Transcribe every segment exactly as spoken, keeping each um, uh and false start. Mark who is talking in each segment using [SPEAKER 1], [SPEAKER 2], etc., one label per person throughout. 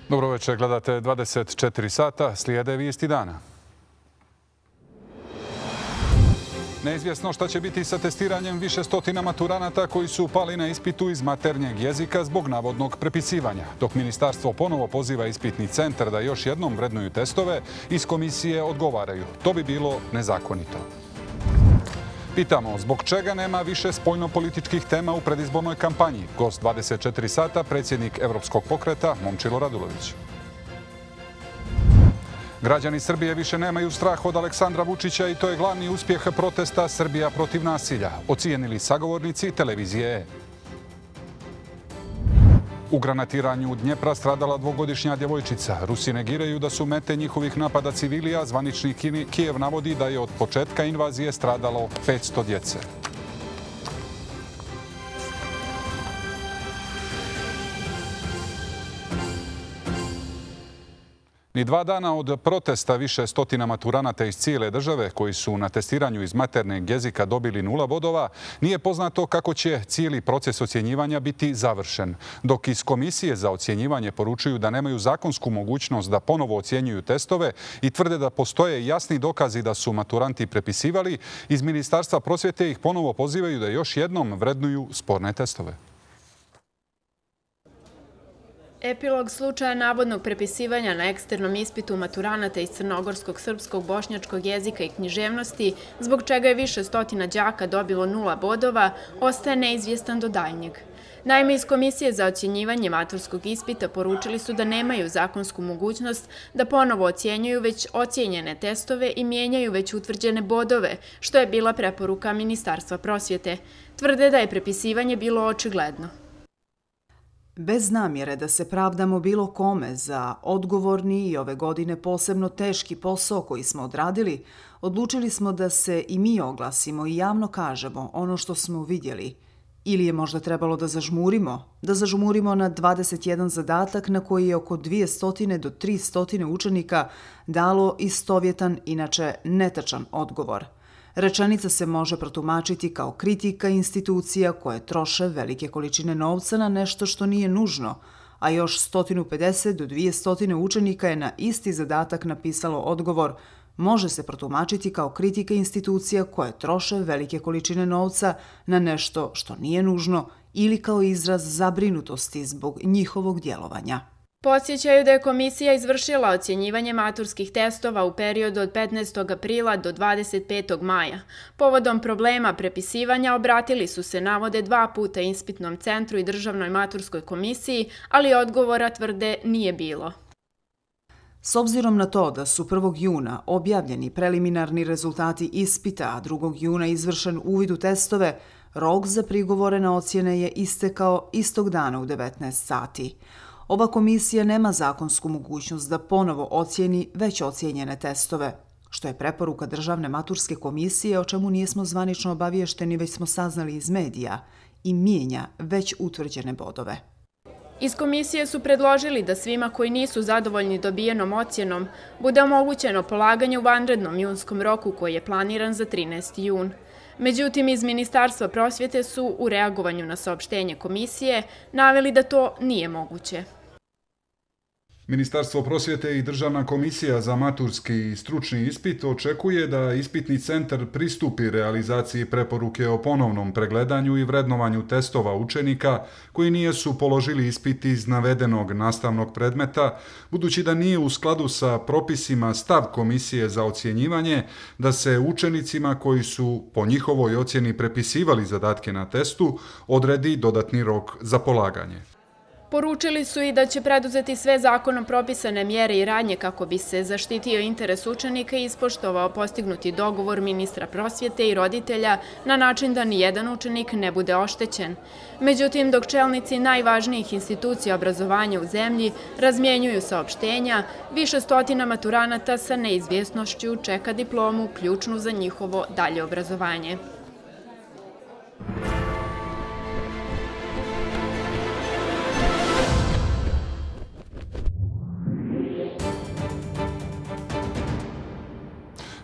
[SPEAKER 1] Dobro večer, gledate dvadeset četiri sata, slijede vijesti dana. Neizvjesno šta će biti sa testiranjem više stotina maturanata koji su pali na ispitu iz maternjeg jezika zbog navodnog prepisivanja. Dok ministarstvo ponovo poziva ispitni centar da još jednom vrednuju testove, iz komisije odgovaraju. To bi bilo nezakonito. Pitamo, zbog čega nema više spoljno-političkih tema u predizbornoj kampanji? Gost dvadeset četiri sata, predsjednik Evropskog pokreta Momčilo Radulović. Građani Srbije više nemaju strah od Aleksandra Vučića i to je glavni uspjeh protesta Srbija protiv nasilja, ocijenili sagovornici televizije E. U granatiranju Dnjepra stradala dvogodišnja djevojčica. Rusi negiraju da su mete njihovih napada civilija. Zvanični Kijev navodi da je od početka invazije stradalo petsto djece. Ni dva dana od protesta više stotina maturanata iz cijele države koji su na testiranju iz maternjeg jezika dobili nula bodova, nije poznato kako će cijeli proces ocjenjivanja biti završen. Dok iz Komisije za ocjenjivanje poručuju da nemaju zakonsku mogućnost da ponovo ocjenjuju testove i tvrde da postoje jasni dokazi da su maturanti prepisivali, iz Ministarstva prosvjete ih ponovo pozivaju da još jednom vrednuju sporne testove.
[SPEAKER 2] Epilog slučaja navodnog prepisivanja na eksternom ispitu maturanata iz crnogorskog, srpskog, bošnjačkog jezika i književnosti, zbog čega je više stotina đaka dobilo nula bodova, ostaje neizvjestan do daljnjeg. Naime, iz Komisije za ocjenjivanje maturskog ispita poručili su da nemaju zakonsku mogućnost da ponovo ocjenjuju već ocijenjene testove i mijenjaju već utvrđene bodove, što je bila preporuka Ministarstva prosvjete. Tvrde da je prepisivanje bilo očigledno.
[SPEAKER 3] Bez namjere da se pravdamo bilo kome za odgovorni i ove godine posebno teški posao koji smo odradili, odlučili smo da se i mi oglasimo i javno kažemo ono što smo vidjeli. Ili je možda trebalo da zažmurimo, da zažmurimo na dvadeset jedan zadatak na koji je oko dvjesto do tristo učenika dalo istovjetan, inače netačan odgovor. Rečenica se može protumačiti kao kritika institucija koje troše velike količine novca na nešto što nije nužno, a još sto pedeset do dvjesto učenika je na isti zadatak napisalo odgovor. Može se protumačiti kao kritika institucija koje troše velike količine novca na nešto što nije nužno ili kao izraz zabrinutosti zbog njihovog djelovanja.
[SPEAKER 2] Podsjećaju da je komisija izvršila ocjenjivanje maturskih testova u periodu od petnaestog aprila do dvadeset petog maja. Povodom problema prepisivanja obratili su se, navode, dva puta ispitnom centru i državnoj maturskoj komisiji, ali odgovora, tvrde, nije bilo.
[SPEAKER 3] S obzirom na to da su prvog juna objavljeni preliminarni rezultati ispita, a drugog juna izvršen uvid u testove, rok za prigovore na ocjene je istekao istog dana u devetnaest sati. Ova komisija nema zakonsku mogućnost da ponovo ocijeni već ocijenjene testove, što je preporuka Državne maturske komisije, o čemu nismo zvanično obaviješteni, već smo saznali iz medija, i mijenja već utvrđene bodove.
[SPEAKER 2] Iz komisije su predložili da svima koji nisu zadovoljni dobijenom ocjenom bude omogućeno polaganje u vanrednom junskom roku koji je planiran za trinaesti jun. Međutim, iz Ministarstva prosvjete su u reagovanju na saopštenje komisije naveli da to nije moguće.
[SPEAKER 1] Ministarstvo prosvjete i Državna komisija za maturski i stručni ispit očekuje da ispitni centar pristupi realizaciji preporuke o ponovnom pregledanju i vrednovanju testova učenika koji nijesu položili ispit iz navedenog nastavnog predmeta, budući da nije u skladu sa propisima stav Komisije za ocjenjivanje da se učenicima koji su po njihovoj ocjeni prepisivali zadatke na testu odredi dodatni rok za polaganje.
[SPEAKER 2] Poručili su i da će preduzeti sve zakonom propisane mjere i radnje kako bi se zaštitio interes učenika i ispoštovao postignuti dogovor ministra prosvjete i roditelja na način da nijedan učenik ne bude oštećen. Međutim, dok čelnici najvažnijih institucija obrazovanja u zemlji razmjenjuju saopštenja, više stotina maturanata sa neizvjesnošću čeka diplomu ključnu za njihovo dalje obrazovanje.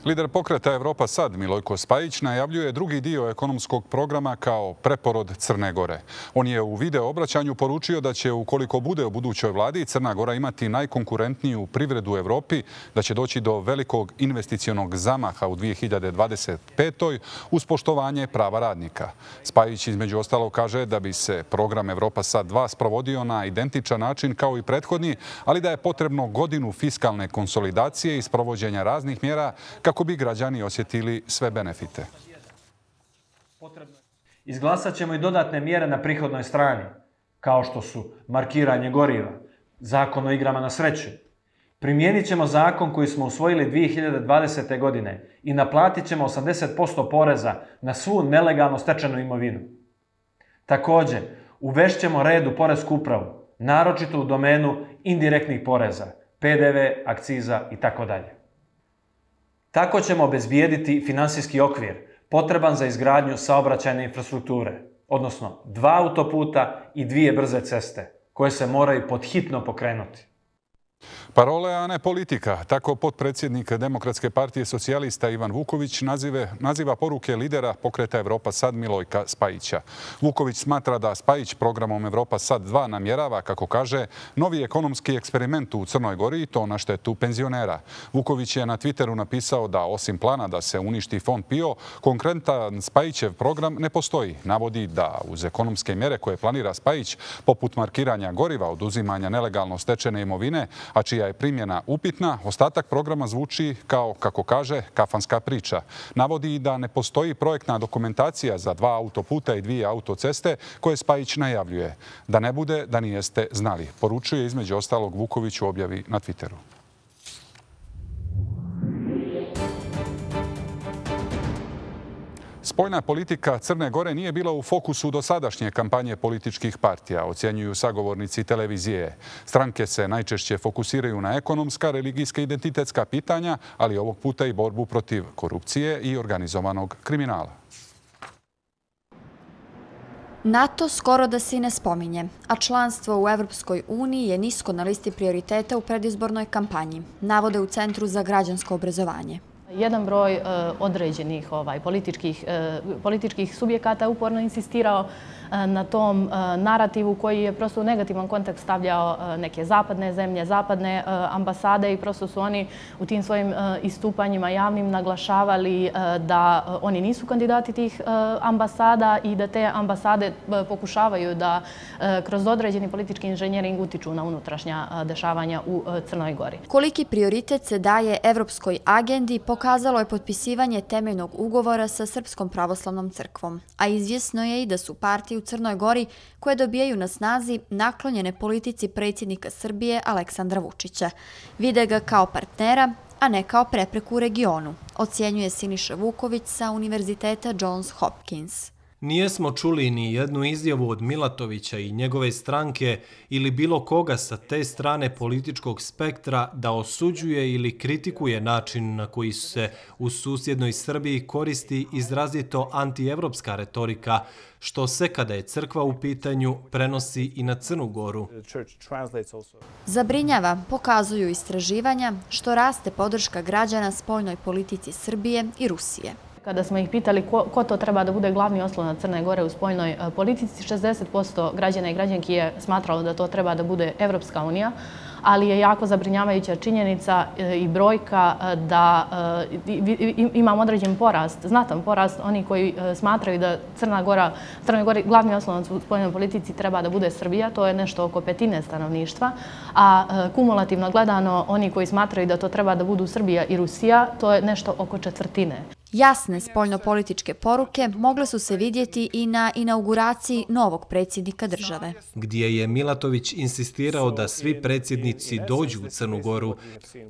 [SPEAKER 1] Lider pokreta Evropa Sad, Milojko Spajić, najavljuje drugi dio ekonomskog programa kao preporod Crne Gore. On je u video obraćanju poručio da će, ukoliko bude u budućoj vladi, Crna Gora imati najkonkurentniju privredu u Evropi, da će doći do velikog investicionog zamaha u dvije hiljade dvadeset petoj uz poštovanje prava radnika. Spajić između ostalog kaže da bi se program Evropa Sad dva sprovodio na identičan način kao i prethodni, ali da je potrebno godinu fiskalne konsolidacije i sprovođenja raznih mjera kako bi građani osjetili sve benefite.
[SPEAKER 4] Izglasat ćemo i dodatne mjere na prihodnoj strani, kao što su markiranje goriva, zakon o igrama na sreću. Primijenit ćemo zakon koji smo usvojili dvije hiljade dvadesete. godine i naplatit ćemo osamdeset posto poreza na svu nelegalno stečenu imovinu. Također, uvešćemo red u poresku upravu, naročito u domenu indirektnih poreza, P D V, akciza itd. Tako ćemo obezbijediti finansijski okvir potreban za izgradnju saobraćajne infrastrukture, odnosno dva autoputa i dvije brze ceste, koje se moraju podhitno pokrenuti.
[SPEAKER 1] Parole, a ne politika. Tako potpredsjednik Demokratske partije socijalista Ivan Vuković nazive, naziva poruke lidera pokreta Evropa Sad Milojka Spajića. Vuković smatra da Spajić programom Evropa Sad dva namjerava, kako kaže, novi ekonomski eksperiment u Crnoj Gori i to na štetu penzionera. Vuković je na Twitteru napisao da osim plana da se uništi fond P I O, konkretan Spajićev program ne postoji. Navodi da uz ekonomske mjere koje planira Spajić, poput markiranja goriva, oduzimanja nelegalno stečene imovine, a čija je primjena upitna, ostatak programa zvuči kao, kako kaže, kafanska priča. Navodi da ne postoji projektna dokumentacija za dva autoputa i dvije autoceste koje Spajić najavljuje. Da ne bude da nijeste znali. Poručuje između ostalog Vuković u objavi na Twitteru. Spoljna politika Crne Gore nije bila u fokusu dosadašnje kampanje političkih partija, ocjenjuju sagovornici televizije. Stranke se najčešće fokusiraju na ekonomska, religijska i identitetska pitanja, ali ovog puta i borbu protiv korupcije i organizovanog kriminala.
[SPEAKER 5] NATO skoro da se i ne spominje, a članstvo u Evropskoj uniji je nisko na listi prioriteta u predizbornoj kampanji, navode u Centru za građansko obrazovanje.
[SPEAKER 6] Jedan broj e, određenih ovaj, političkih, e, političkih subjekata uporno insistirao e, na tom e, narativu koji je prosto u negativan kontekst stavljao e, neke zapadne zemlje, zapadne e, ambasade i prosto su oni u tim svojim e, istupanjima javnim naglašavali e, da e, oni nisu kandidati tih e, ambasada i da te ambasade e, pokušavaju da e, kroz određeni politički inženjering utiču na unutrašnja e, dešavanja u e, Crnoj Gori.
[SPEAKER 5] Koliki prioritet se daje Evropskoj agendi pokazalo je potpisivanje temeljnog ugovora sa Srpskom pravoslavnom crkvom, a izvjesno je i da su partije u Crnoj Gori koje dobijaju na snazi naklonjene politici predsjednika Srbije Aleksandra Vučića. Vide ga kao partnera, a ne kao prepreku u regionu, ocjenjuje Siniša Vuković sa Univerziteta Johns Hopkins.
[SPEAKER 7] Nijesmo čuli ni jednu izjavu od Milatovića i njegove stranke ili bilo koga sa te strane političkog spektra da osuđuje ili kritikuje način na koji se u susjednoj Srbiji koristi izrazito antievropska retorika, što se kada je crkva u pitanju prenosi i na Crnu Goru.
[SPEAKER 5] Zabrinjava, pokazuju istraživanja, što raste podrška građana spoljnoj politici Srbije i Rusije.
[SPEAKER 6] Kada smo ih pitali ko, ko to treba da bude glavni oslonac Crne Gore u spoljnoj politici, šezdeset posto građana i građanki je smatralo da to treba da bude Evropska unija, ali je jako zabrinjavajuća činjenica i brojka da imamo određen porast, znatan porast oni koji smatraju da Crna Gora, Crnoj Gori glavni oslonac u spoljnoj politici treba da bude Srbija, to je nešto oko petine stanovništva, a kumulativno gledano oni koji smatraju da to treba da budu Srbija i Rusija, to je nešto oko četvrtine.
[SPEAKER 5] Jasne spoljnopolitičke poruke mogle su se vidjeti i na inauguraciji novog predsjednika države.
[SPEAKER 7] Gdje je Milatović insistirao da svi predsjednici dođu u Crnu Goru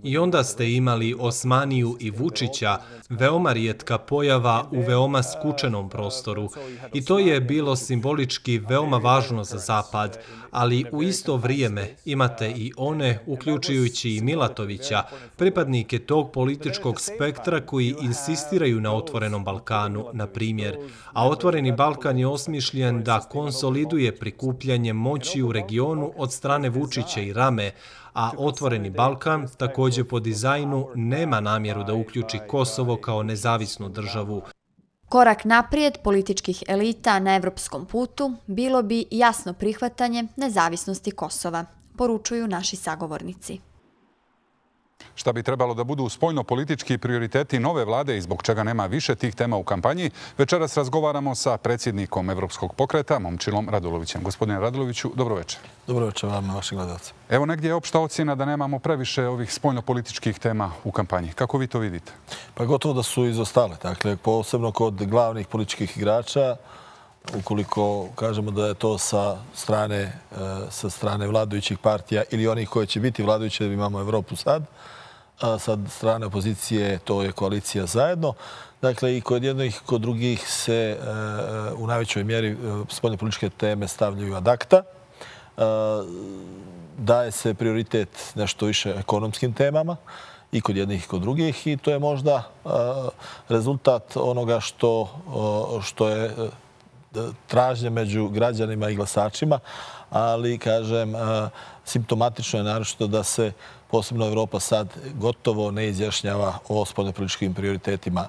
[SPEAKER 7] i onda ste imali Osmaniju i Vučića, veoma rijetka pojava u veoma skučenom prostoru. I to je bilo simbolički veoma važno za Zapad, ali u isto vrijeme imate i one, uključujući i Milatovića, pripadnike tog političkog spektra koji insistiraju funkcioniraju na Otvorenom Balkanu, na primjer, a Otvoreni Balkan je osmišljen da konsoliduje prikupljanje moći u regionu od strane Vučića i Rame, a Otvoreni Balkan, također po dizajnu, nema namjeru da uključi Kosovo kao nezavisnu državu.
[SPEAKER 5] Korak naprijed političkih elita na evropskom putu bilo bi jasno prihvatanje nezavisnosti Kosova, poručuju naši sagovornici.
[SPEAKER 1] Šta bi trebalo da budu spoljno-politički prioriteti nove vlade i zbog čega nema više tih tema u kampanji, večeras razgovaramo sa predsjednikom Evropskog pokreta, Momčilom Radulovićem. Gospodine Raduloviću, dobro večer.
[SPEAKER 8] Dobro večer vam, vašim gledalcima.
[SPEAKER 1] Evo negdje je opšta ocjena da nemamo previše ovih spoljno-političkih tema u kampanji. Kako vi to vidite?
[SPEAKER 8] Pa gotovo da su izostale. Dakle, posebno kod glavnih političkih igrača, ukoliko kažemo da je to sa strane, sa strane vladajućih partija ili onih koje će biti vladajuće, da imamo Evropu sad, a sa strane opozicije to je koalicija zajedno. Dakle, i kod jednih i kod drugih se u najvećoj mjeri spoljne političke teme stavljaju ad acta. Daje se prioritet nešto više ekonomskim temama i kod jednih i kod drugih i to je možda rezultat onoga što, što je tražnje među građanima i glasačima, ali, kažem, simptomatično je naročito da se posebno Evropa sad gotovo ne izjašnjava o spoljnopolitičkim prioritetima.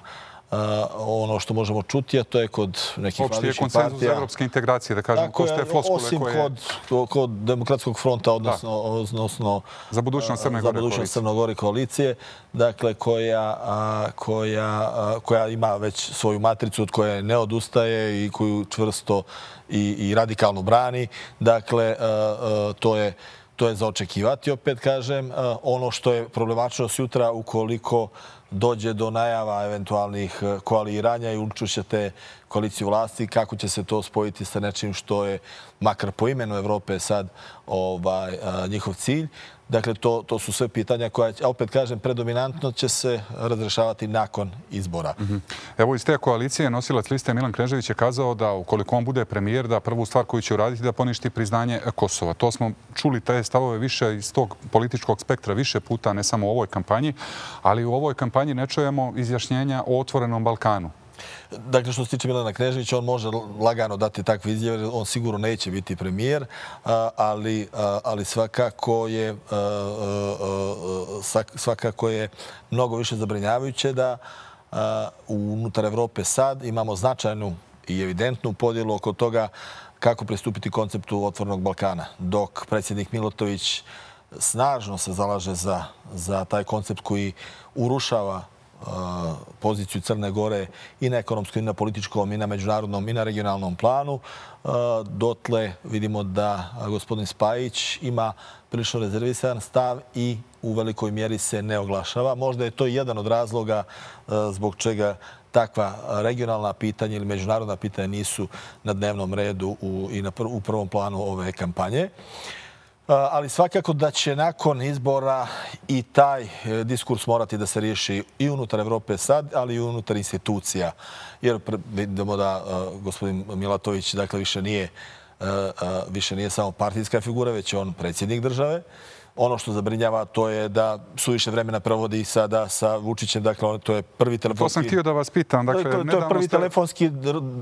[SPEAKER 8] Ono što možemo čuti, a to je kod nekih vladajućih partija.
[SPEAKER 1] Opšti je konsenzus za evropske integracije, da kažem, ko ste floskule koje...
[SPEAKER 8] Osim kod, kod Demokratskog fronta, odnosno, odnosno
[SPEAKER 1] za budućnost Crne Gore,
[SPEAKER 8] budućnost Crne Gore koalicije, dakle, koja, koja, koja ima već svoju matricu od koje ne odustaje i koju čvrsto i, i radikalno brani. Dakle, to je To je za očekivati, opet kažem. Ono što je problematično sutra, ukoliko dođe do najava eventualnih koaliranja i učućete koaliciju vlasti, kako će se to spojiti sa nečim što je, makar po imenu Evrope, sad ovaj, njihov cilj. Dakle, to, to su sve pitanja koja, opet kažem, predominantno će se razrešavati nakon izbora.
[SPEAKER 1] Mm-hmm. Evo, iz te koalicije nosilac liste Milan Knežević je kazao da ukoliko on bude premijer, da prvu stvar koju će uraditi da poništi priznanje Kosova. To smo čuli te stavove više iz tog političkog spektra više puta, ne samo u ovoj kampanji, ali u ovoj kampanji ne čujemo izjašnjenja o Otvorenom Balkanu.
[SPEAKER 8] Dakle, što se tiče Milana Kneževića, on može lagano dati takve izjave, on sigurno neće biti premijer, ali, ali svakako je svakako je mnogo više zabrinjavajuće da unutar Evrope sad imamo značajnu i evidentnu podjelu oko toga kako pristupiti konceptu Otvorenog Balkana. Dok predsjednik Milotović snažno se zalaže za, za taj koncept koji urušava poziciju Crne Gore i na ekonomskom, i na političkom, i na međunarodnom, i na regionalnom planu. Dotle vidimo da gospodin Spajić ima prilično rezervisan stav i u velikoj mjeri se ne oglašava. Možda je to jedan od razloga zbog čega takva regionalna pitanja ili međunarodna pitanja nisu na dnevnom redu u, i na pr u prvom planu ove kampanje. Ali svakako da će nakon izbora i taj diskurs morati da se riješi i unutar Evrope sad, ali i unutar institucija. Jer vidimo da gospodin Milatović dakle, više, nije, više nije samo partijska figura, već je on predsjednik države. Ono što zabrinjava to je da su više vremena provodi sada sa Vučićem. Dakle, to je prvi telefonski...
[SPEAKER 1] To sam htio da vas pitam. Dakle,
[SPEAKER 8] to, to je prvi ste... telefonski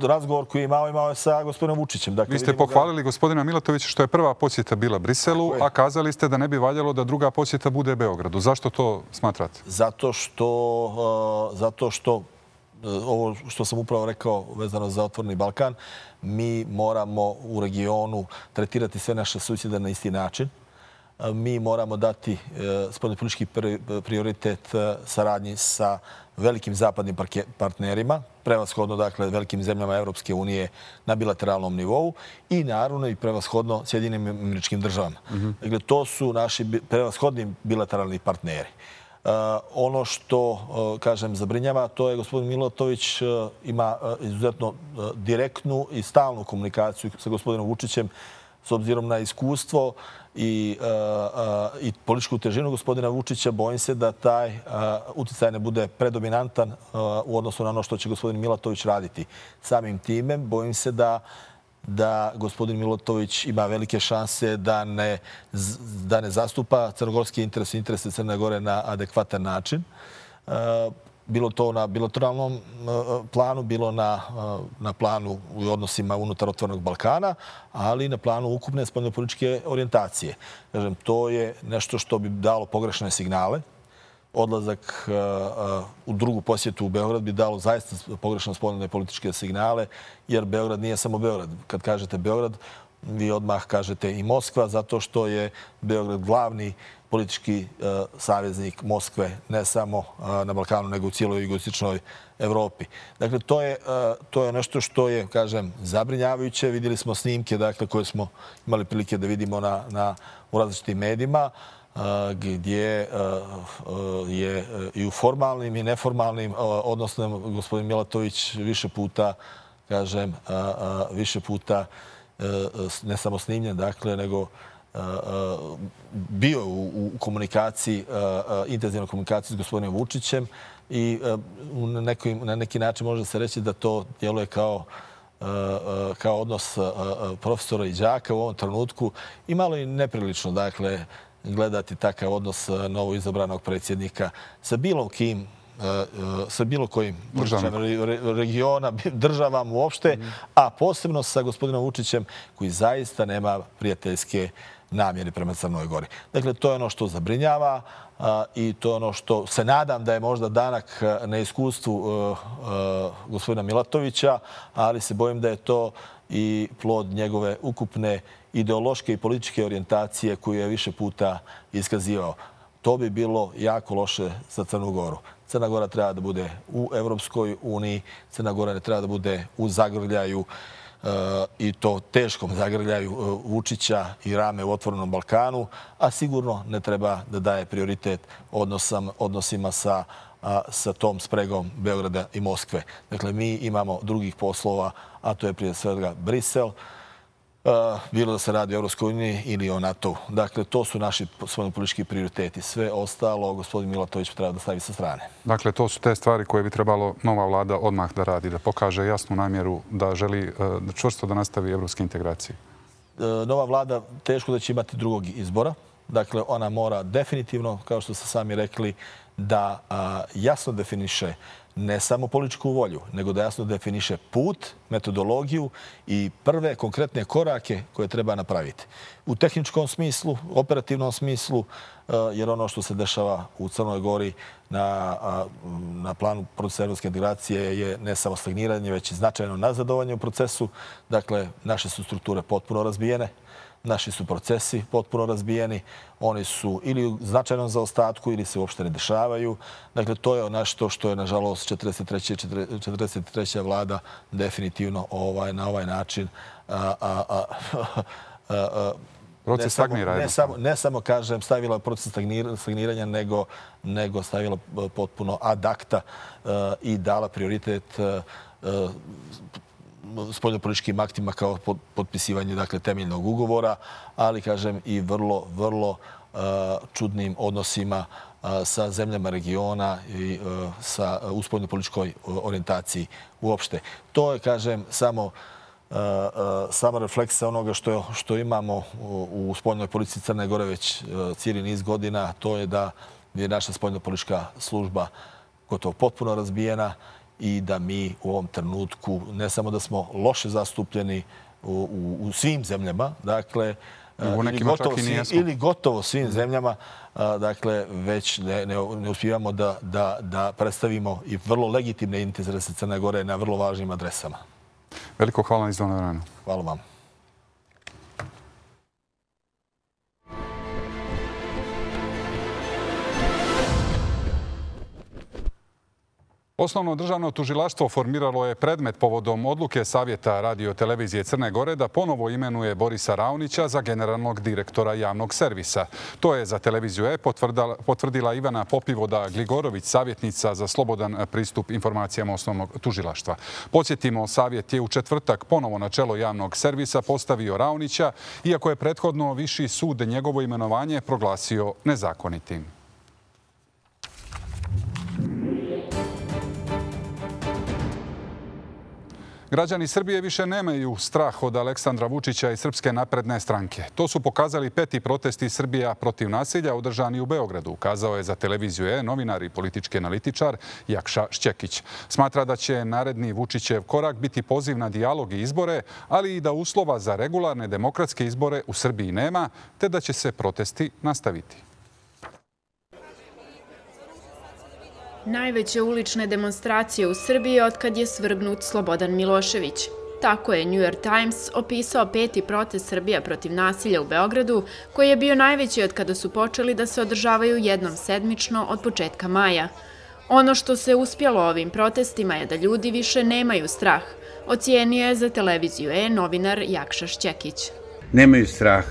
[SPEAKER 8] razgovor koji je imao, imao je sa gospodinom Vučićem. Dakle,
[SPEAKER 1] vi ste pohvalili da... gospodina Milatovića što je prva posjeta bila Briselu, a kazali ste da ne bi valjalo da druga posjeta bude Beogradu. Zašto to smatrate?
[SPEAKER 8] Zato što... Uh, zato što ovo što sam upravo rekao vezano za Otvoreni Balkan, mi moramo u regionu tretirati sve naše susjede na isti način. Mi moramo dati spoljnopolitički prioritet saradnji sa velikim zapadnim partnerima, prevashodno dakle velikim zemljama Evropske unije na bilateralnom nivou i naravno i prevashodno Sjedinjenim Američkim Državama. Mm-hmm. Dakle, to su naši prevashodni bilateralni partneri. Uh, ono što, uh, kažem, zabrinjava, to je gospodin Milatović uh, ima uh, izuzetno uh, direktnu i stalnu komunikaciju sa gospodinom Vučićem s obzirom na iskustvo i, uh, uh, i političku težinu gospodina Vučića. Bojim se da taj uh, uticaj ne bude predominantan uh, u odnosu na ono što će gospodin Milatović raditi. Samim time bojim se da da gospodin Milatović ima velike šanse da ne, da ne zastupa crnogorski interes i interese Crne Gore na adekvatan način. bilo to na bilateralnom planu, bilo na, na planu u odnosima unutar Otvorenog Balkana, ali i na planu ukupne spoljnopolitičke orijentacije. Kažem, to je nešto što bi dalo pogrešne signale. Odlazak u drugu posjetu u Beograd bi dalo zaista pogrešno spoljne političke signale, jer Beograd nije samo Beograd. Kad kažete Beograd, vi odmah kažete i Moskva, zato što je Beograd glavni politički saveznik Moskve, ne samo na Balkanu, nego u cijeloj jugoistočnoj Evropi. Dakle, to je, to je nešto što je, kažem, zabrinjavajuće. Vidjeli smo snimke, dakle, koje smo imali prilike da vidimo na, na, u različitim medijima, gdje je i u formalnim i neformalnim odnosno gospodin Milatović više puta, kažem, više puta ne samo snimljen, dakle, nego bio u komunikaciji, intenzivnoj komunikaciji s gospodinom Vučićem i na neki način može se reći da to djeluje kao kao odnos profesora i đaka u ovom trenutku i malo i neprilično, dakle, gledati takav odnos novo izabranog predsjednika sa bilo kim, sa bilo kojim regiona, državama uopšte, a posebno sa gospodinom Vučićem koji zaista nema prijateljske namjere prema Crnoj Gori. Dakle, to je ono što zabrinjava i to je ono što se nadam da je možda danak na iskustvu gospodina Milatovića, ali se bojim da je to i plod njegove ukupne ideološke i političke orijentacije koju je više puta iskazivao. To bi bilo jako loše za Crnu Goru. Crna Gora treba da bude u Evropskoj uniji, Crna Gora ne treba da bude u zagrljaju i to teškom zagrljaju Vučića i Rame u Otvorenom Balkanu, a sigurno ne treba da daje prioritet odnosima sa, sa tom spregom Beograda i Moskve. Dakle, mi imamo drugih poslova, a to je prije svega Brisel, bilo da se radi o Evropskoj uniji ili o NATO-u. Dakle, to su naši spoljnopolitički prioriteti. Sve ostalo gospodin Milatović treba da stavi sa strane.
[SPEAKER 1] Dakle, to su te stvari koje bi trebalo nova vlada odmah da radi, da pokaže jasnu namjeru da želi čvrsto da nastavi evropske integracije.
[SPEAKER 8] Nova vlada teško da će imati drugog izbora. Dakle, ona mora definitivno, kao što ste sami rekli, da jasno definiše ne samo političku volju, nego da jasno definiše put, metodologiju i prve konkretne korake koje treba napraviti. U tehničkom smislu, operativnom smislu, jer ono što se dešava u Crnoj Gori na, na planu procesa evropske integracije je ne samo stagniranje, već i značajno nazadovanje u procesu. Dakle, naše su strukture potpuno razbijene. Naši su procesi potpuno razbijeni, oni su ili u značajnom zaostatku ili se uopšte ne dešavaju. Dakle, to je nešto što je, nažalost, četrdeset treća. četrdeset treća vlada definitivno ovaj, na ovaj način a, a, a, a,
[SPEAKER 1] proces stagnira.
[SPEAKER 8] Ne samo, ne samo, kažem, stavila proces stagniranja, nego, nego stavila potpuno ad acta i dala prioritet spoljnopolitičkim aktima kao potpisivanje, dakle, temeljnog ugovora, ali, kažem, i vrlo, vrlo čudnim odnosima sa zemljama regiona i sa u spoljnopolitičkoj orijentaciji uopšte. To je, kažem, samo sama refleksija onoga što, što imamo u spoljnoj politici Crne Gore već cijeli niz godina, to je da je naša spoljnopolitička služba gotovo potpuno razbijena i da mi u ovom trenutku ne samo da smo loše zastupljeni u, u, u svim zemljama, dakle, ili gotovo, svim, ili gotovo svim zemljama, dakle, već ne, ne, ne uspijevamo da, da, da predstavimo i vrlo legitimne interese Crne Gore na vrlo važnim adresama.
[SPEAKER 1] Veliko hvala na izdvojeno vreme.
[SPEAKER 8] Hvala vam.
[SPEAKER 1] Osnovno državno tužilaštvo formiralo je predmet povodom odluke Savjeta radio-televizije Crne Gore da ponovo imenuje Borisa Raonića za generalnog direktora javnog servisa. To je za televiziju E potvrdila Ivana Popivoda-Gligorović, savjetnica za slobodan pristup informacijama osnovnog tužilaštva. Podsjetimo, Savjet je u četvrtak ponovo na čelo javnog servisa postavio Raonića, iako je prethodno Viši sud njegovo imenovanje proglasio nezakonitim. Građani Srbije više nemaju strah od Aleksandra Vučića i Srpske napredne stranke. To su pokazali peti protesti Srbija protiv nasilja održani u Beogradu, kazao je za televiziju E novinar i politički analitičar Jakša Šćekić. Smatra da će naredni Vučićev korak biti poziv na dijalog i izbore, ali i da uslova za regularne demokratske izbore u Srbiji nema, te da će se protesti nastaviti.
[SPEAKER 2] Najveće ulične demonstracije u Srbiji otkad je svrgnut Slobodan Milošević. Tako je New York Times opisao peti protest Srbija protiv nasilja u Beogradu, koji je bio najveći od kada su počeli da se održavaju jednom sedmično od početka maja. Ono što se uspjelo ovim protestima je da ljudi više nemaju strah, ocijenio je za televiziju E novinar Jakša Šćekić.
[SPEAKER 9] Nemaju strah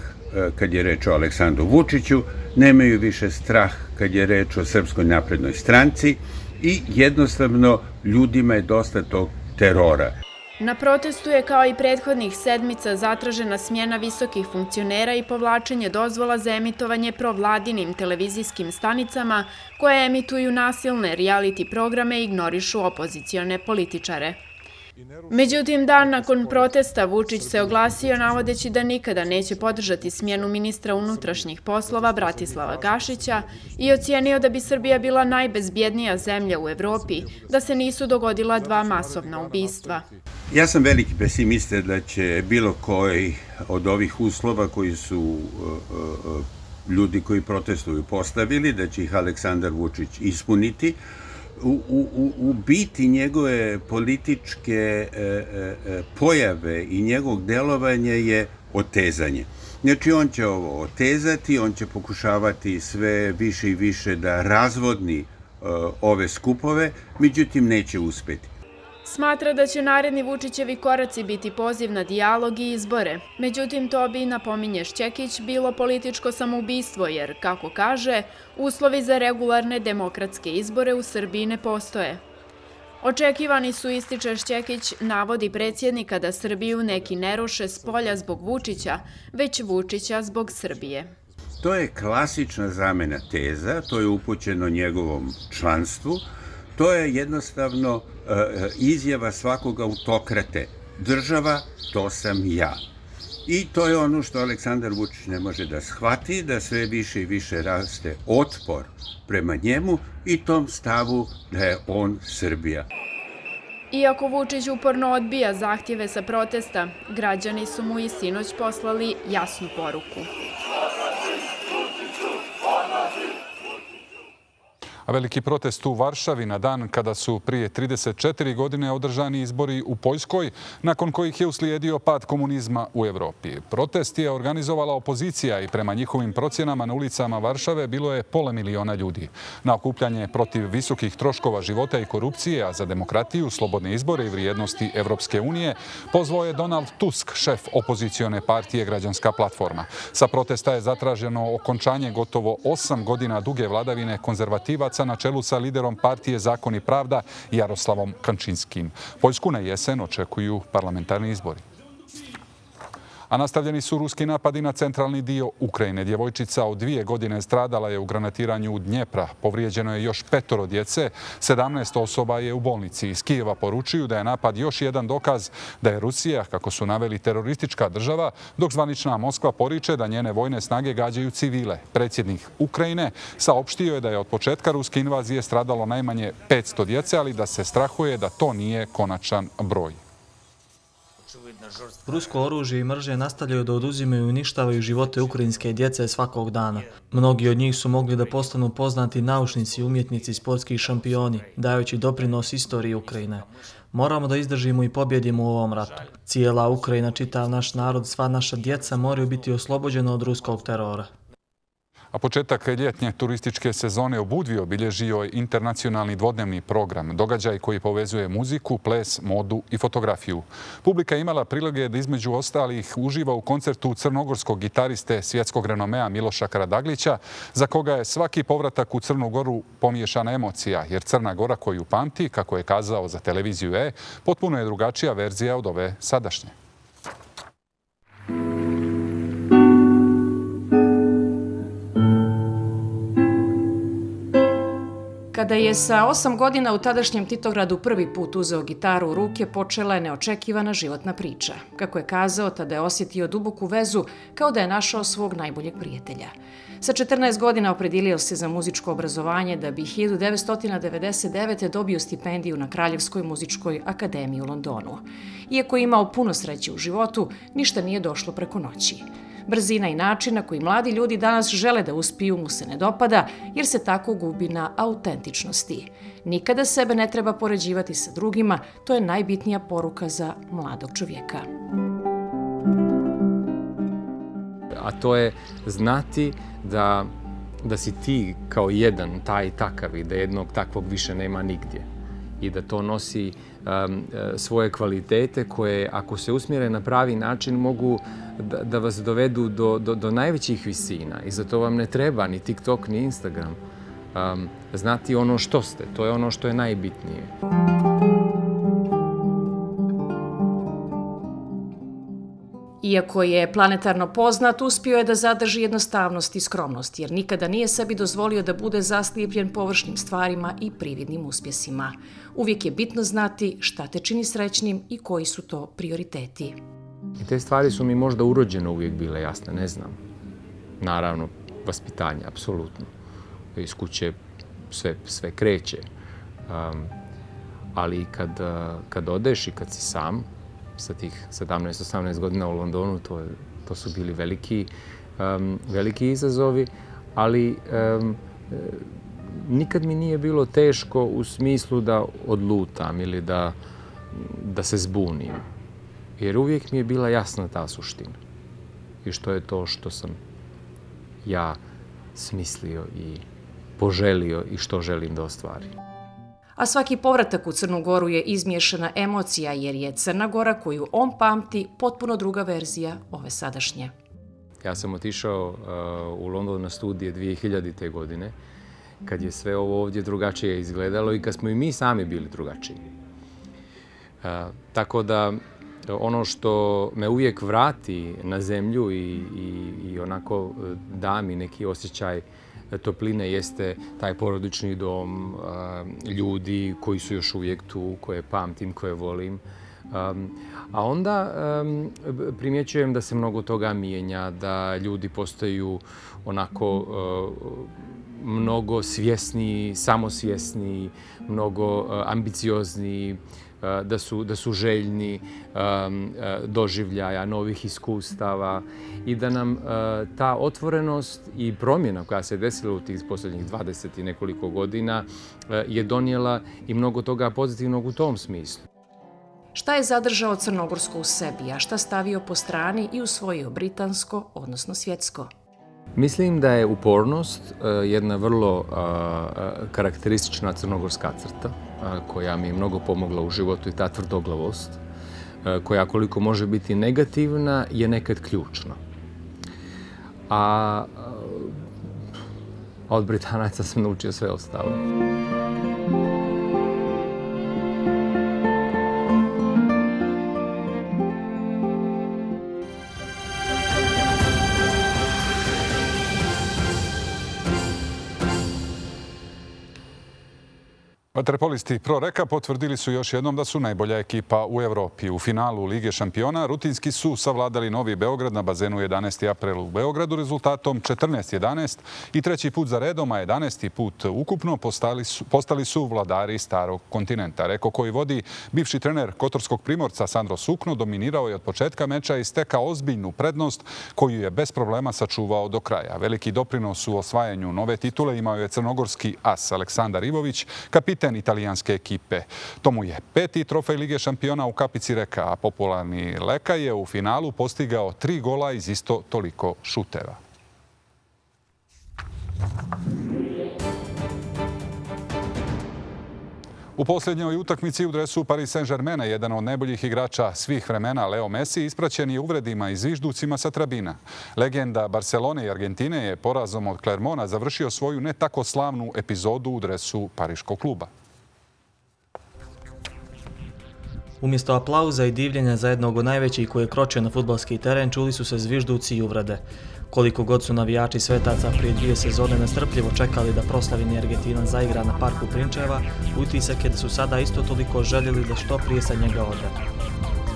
[SPEAKER 9] kad je reč o Aleksandru Vučiću, nemaju više strah kad je reč o Srpskoj naprednoj stranci i jednostavno ljudima je dosta tog terora.
[SPEAKER 2] Na protestu je kao i prethodnih sedmica zatražena smjena visokih funkcionera i povlačenje dozvola za emitovanje provladinim televizijskim stanicama koje emituju nasilne reality programe i ignorišu opozicione političare. Međutim, dan nakon protesta Vučić se oglasio navodeći da nikada neće podržati smjenu ministra unutrašnjih poslova Bratislava Gašića i ocijenio da bi Srbija bila najbezbjednija zemlja u Evropi da se nisu dogodila dva masovna ubistva.
[SPEAKER 9] Ja sam veliki pesimista da će bilo koji od ovih uslova koji su ljudi koji protestuju postavili, da će ih Aleksandar Vučić ispuniti. U, u, u biti njegove političke e, e, pojave i njegovog delovanja je otezanje. Znači on će ovo otezati, on će pokušavati sve više i više da razvodni e, ove skupove, međutim neće uspjeti.
[SPEAKER 2] Smatra da će naredni Vučićevi koraci biti poziv na dijalog i izbore. Međutim, to bi, napominje Šćekić, bilo političko samoubistvo jer, kako kaže, uslovi za regularne demokratske izbore u Srbiji ne postoje. Očekivani su, ističe Šćekić, navodi predsjednika da Srbiju neki ne ruše s polja zbog Vučića, već Vučića zbog Srbije.
[SPEAKER 9] To je klasična zamena teza, to je upućeno njegovom članstvu. To je jednostavno izjava svakog autokrate. Država, to sam ja. I to je ono što Aleksandar Vučić ne može da shvati, da sve više i više raste otpor prema njemu i tom stavu da je on Srbija.
[SPEAKER 2] Iako Vučić uporno odbija zahtjeve sa protesta, građani su mu i sinoć poslali jasnu poruku.
[SPEAKER 1] A veliki protest u Varšavi na dan kada su prije trideset četiri godine održani izbori u Poljskoj, nakon kojih je uslijedio pad komunizma u Evropi. Protest je organizovala opozicija i prema njihovim procjenama na ulicama Varšave bilo je pola miliona ljudi. Na okupljanje protiv visokih troškova života i korupcije, a za demokratiju, slobodne izbore i vrijednosti Evropske unije, pozvao je Donald Tusk, šef opozicione partije Građanska platforma. Sa protesta je zatraženo okončanje gotovo osam godina duge vladavine konzervativaca na čelu sa liderom partije Zakon i pravda Jaroslavom Kančinskim. Poljsku na jesen očekuju parlamentarni izbori. A nastavljeni su ruski napadi na centralni dio Ukrajine. Djevojčica od dvije godine stradala je u granatiranju u Dnjepra. Povrijeđeno je još petoro djece, sedamnaest osoba je u bolnici. Iz Kijeva poručuju da je napad još jedan dokaz da je Rusija, kako su naveli, teroristička država, dok zvanična Moskva poriče da njene vojne snage gađaju civile. Predsjednik Ukrajine saopštio je da je od početka ruske invazije stradalo najmanje petsto djece, ali da se strahuje da to nije konačan broj.
[SPEAKER 10] Rusko oružje i mržnje nastavljaju da oduzimaju i uništavaju živote ukrajinske djece svakog dana. Mnogi od njih su mogli da postanu poznati naučnici, umjetnici i sportski šampioni, dajući doprinos istoriji Ukrajine. Moramo da izdržimo i pobjedimo u ovom ratu. Cijela Ukrajina, čitav naš narod, sva naša djeca moraju biti oslobođena od ruskog terora.
[SPEAKER 1] A početak ljetnje turističke sezone u Budvi obilježio je internacionalni dvodnevni program, događaj koji povezuje muziku, ples, modu i fotografiju. Publika imala prilike da između ostalih uživa u koncertu crnogorskog gitariste svjetskog renomea Miloša Karadaglića, za koga je svaki povratak u Crnu Goru pomiješana emocija, jer Crna Gora koju pamti, kako je kazao za televiziju E, potpuno je drugačija verzija od ove sadašnje.
[SPEAKER 11] Kada je sa osam godina u tadašnjem Titogradu prvi put uzeo gitaru u ruke, počela je neočekivana životna priča. Kako je kazao, tada je osjetio duboku vezu kao da je našao svog najboljeg prijatelja. Sa četrnaest godina opredilio se za muzičko obrazovanje da bi hiljadu devetsto devedeset devete. dobio stipendiju na Kraljevskoj muzičkoj akademiji u Londonu. Iako je imao puno sreće u životu, ništa nije došlo preko noći. Brzina i način na koji mladi ljudi danas žele da uspiju mu se ne dopada, jer se tako gubi na autentičnosti. Nikada sebe ne treba poređivati sa drugima, to je najbitnija poruka za mladog čovjeka.
[SPEAKER 12] A to je znati da, da si ti kao jedan taj takav i da jednog takvog više nema nigdje. I da to nosi um, svoje kvalitete koje, ako se usmjere na pravi način, mogu da, da vas dovedu do, do, do najvećih visina. I za to vam ne treba ni TikTok, ni Instagram. Um, znati ono što ste, to je ono što je najbitnije.
[SPEAKER 11] Iako je planetarno poznat, uspio je da zadrži jednostavnost i skromnost, jer nikada nije sebi dozvolio da bude zaslijepljen površnim stvarima i prividnim uspjesima. Uvijek je bitno znati šta te čini srećnim i koji su to prioriteti.
[SPEAKER 12] I te stvari su mi možda urođeno uvijek bile jasne, ne znam. Naravno, vaspitanje, apsolutno. Iz kuće sve, sve kreće. Um, ali kad, kad odeš i kad si sam, sa tih sedamnaest osamnaest godina u Londonu, to, to su bili veliki, um, veliki izazovi, ali um, nikad mi nije bilo teško u smislu da odlutam ili da, da se zbunim. Jer uvijek mi je bila jasna ta suština. I što je to što sam ja smislio i poželio i što želim da ostvarim.
[SPEAKER 11] A svaki povratak u Crnu Goru je izmiješana emocija, jer je Crna Gora koju on pamti potpuno druga verzija ove sadašnje.
[SPEAKER 12] Ja sam otišao uh, u London na studije dvije hiljadite. godine, kad je sve ovo ovdje drugačije izgledalo i kad smo i mi sami bili drugačiji. Uh, tako da ono što me uvijek vrati na zemlju i, i, i onako da mi neki osjećaj topline jeste taj porodični dom, ljudi koji su još uvijek tu, koje pamtim, koje volim. A onda primjećujem da se mnogo toga mijenja, da ljudi postaju onako mnogo svjesniji, samosvjesniji, mnogo ambiciozniji, da su, da su željni um, doživljaja, novih iskustava i da nam uh, ta otvorenost i promjena koja se desila u tih posljednjih dvadeset i nekoliko godina uh, je donijela i mnogo toga pozitivnog u tom smislu.
[SPEAKER 11] Šta je zadržao crnogorsko u sebi, a šta stavio po strani i usvojio britansko, odnosno svjetsko?
[SPEAKER 12] Mislim da je upornost uh, jedna vrlo uh, karakteristična crnogorska crta, koja mi je mnogo pomogla u životu, i ta tvrdoglavost, koja koliko može biti negativna, je nekad ključna. A od Britanaca sam naučio sve ostalo.
[SPEAKER 1] Vaterpolisti Pro Reka potvrdili su još jednom da su najbolja ekipa u Evropi. U finalu Lige šampiona rutinski su savladali Novi Beograd na bazenu jedanaesti april u Beogradu rezultatom četrnaest jedanaest i treći put za redom, a jedanaesti put ukupno postali su, postali su vladari starog kontinenta. Reko koji vodi bivši trener Kotorskog Primorca Sandro Sukno dominirao je od početka meča i stekao ozbiljnu prednost koju je bez problema sačuvao do kraja. Veliki doprinos u osvajanju nove titule imao je crnogorski as Aleksandar Ivović, kapiten italijanske ekipe. To mu je peti trofej Lige šampiona u kapici Reka, a popularni Leka je u finalu postigao tri gola iz isto toliko šuteva. U posljednjoj utakmici u dresu Paris Saint-Germaina jedan od najboljih igrača svih vremena, Leo Messi, ispraćen je uvredima i zvižducima sa tribina. Legenda Barcelone i Argentine je porazom od Clermonta završio svoju ne tako slavnu epizodu u dresu pariškog kluba.
[SPEAKER 10] Umjesto aplauza i divljenja za jednog od najvećih koji je kročio na fudbalski teren, čuli su se zvižduci i uvrede. Koliko god su navijači Svetaca prije dvije sezone nestrpljivo čekali da proslavljeni Argentina zaigra na parku Prinčeva, utisak je da su sada isto toliko željeli da što prije sa njega ode.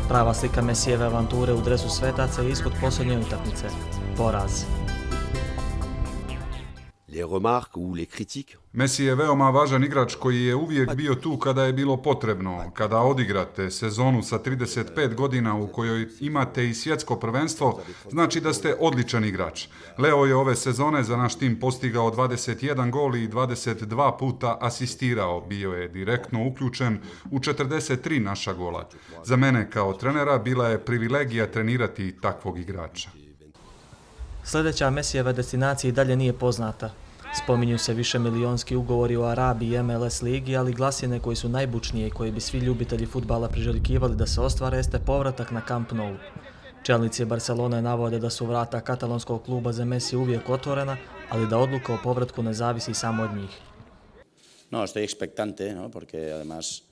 [SPEAKER 10] Prava slika Mesijeve avanture u dresu Svetaca je ishod posljednje utakmice. Poraz.
[SPEAKER 1] Messi je veoma važan igrač koji je uvijek bio tu kada je bilo potrebno. Kada odigrate sezonu sa trideset pet godina u kojoj imate i svjetsko prvenstvo, znači da ste odličan igrač. Leo je ove sezone za naš tim postigao dvadeset jedan gol i dvadeset dva puta asistirao. Bio je direktno uključen u četrdeset tri naša gola. Za mene kao trenera bila je privilegija trenirati takvog igrača.
[SPEAKER 10] Sljedeća Mesijeva destinacija i dalje nije poznata. Spominju se više milijonski ugovori o Arabiji i M L S ligi, ali glasine koji su najbučnije i koji bi svi ljubitelji fudbala priželjkivali da se ostvare jeste povratak na Camp Nou. Čelnici Barcelone navode da su vrata katalonskog kluba za Messi uvijek otvorena, ali da odluka o povratku ne zavisi samo od njih.
[SPEAKER 13] No, estoy expectante, no, porque además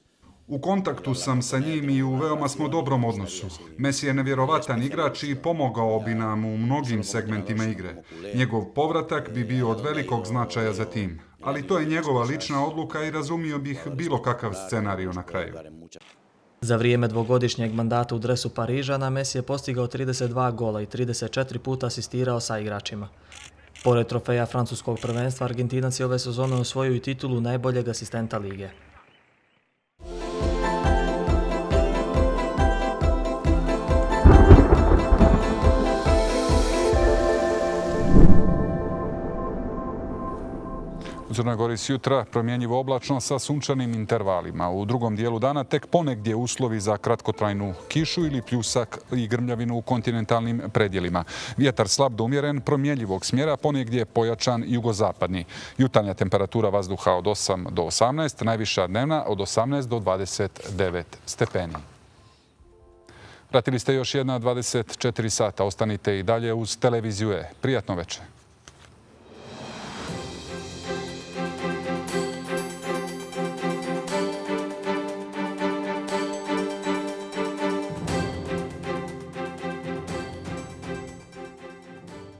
[SPEAKER 1] U kontaktu sam sa njim i u veoma smo dobrom odnosu. Messi je nevjerovatan igrač i pomogao bi nam u mnogim segmentima igre. Njegov povratak bi bio od velikog značaja za tim. Ali to je njegova lična odluka i razumio bih bilo kakav scenarij na kraju.
[SPEAKER 10] Za vrijeme dvogodišnjeg mandata u dresu Parižana, Messi je postigao trideset dva gola i trideset četiri puta asistirao sa igračima. Pored trofeja francuskog prvenstva, Argentinac je ove sezone osvojio i titulu najboljeg asistenta lige.
[SPEAKER 1] U Crnoj Gori s jutra promjenjivo oblačno sa sunčanim intervalima. U drugom dijelu dana tek ponegdje uslovi za kratkotrajnu kišu ili pljusak i grmljavinu u kontinentalnim predjelima. Vjetar slab do umjeren, promjenjivog smjera, ponegdje pojačan jugozapadni. Jutarnja temperatura vazduha od osam do osamnaest, najviša dnevna od osamnaest do dvadeset devet stepeni. Pratili ste još jedna dvadeset četiri sata. Ostanite i dalje uz televiziju E. Prijatno večer.